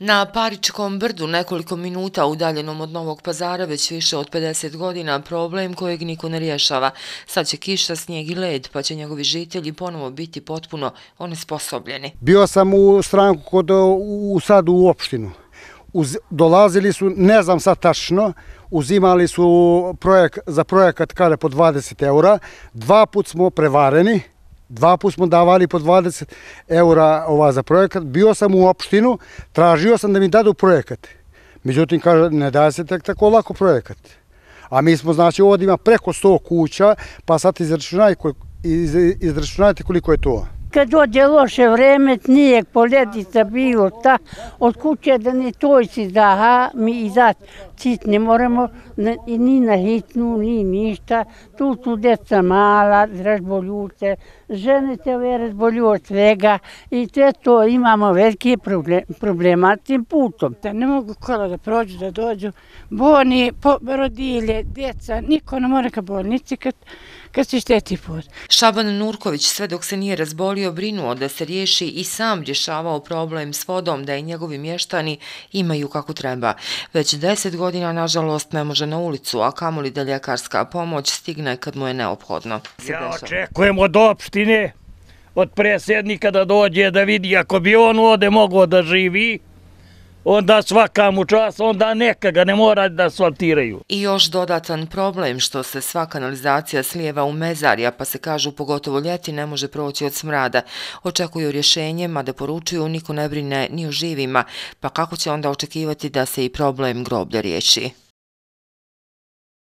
Na Paričkom brdu, nekoliko minuta udaljenom od Novog Pazara, već više od 50 godina, problem kojeg niko ne rješava. Sad će kiša, snijeg i led, pa će njegovi žitelji ponovo biti potpuno onesposobljeni. Bio sam u stranku sad u opštinu. Dolazili su, ne znam sad tačno, uzimali su za projekat kada po 20 eura. 2 put smo prevareni. 2 put smo davali po 20 eura za projekat. Bio sam u opštinu, tražio sam da mi dadu projekat. Međutim, kaže, ne daje se tek tako lako projekat. A mi smo, znači, ovdje ima preko 100 kuća, pa sad izračunajte koliko je to. Kad dođe loše vreme, snijeg, poledica, bilo šta, od kuće da ne toj si daha, mi izaći cit ne moramo ni na hitnu, ni ništa. Tu su djeca mala, razboljuce, žene se ove razbolju od svega i sve to imamo velike problema s tim putom. Ne mogu kola da prođu, da dođu, bolni, rodilje, djeca, niko ne mora ka bolnici kad se šteti put. Šaban Nurković, sve dok se nije razbolio, brinuo da se riješi i sam rješavao problem s vodom, da i njegovi mještani imaju kako treba. Već 10 godina, nažalost, ne može na ulicu, a kamoli da ljekarska pomoć stigne kad mu je neophodno. Ja očekujem od opštine, od predsjednika da dođe da vidi, ako bi on ovdje mogao da živi, onda svaka mu čas, onda neka ga ne mora da asfaltiraju. I još dodatan problem što se sva kanalizacija slijeva u mezarja, pa se kažu pogotovo ljeti ne može proći od smrada. Očekuju rješenje, mada poručuju niko ne brine ni o živima, pa kako će onda očekivati da se i problem groblja riješi?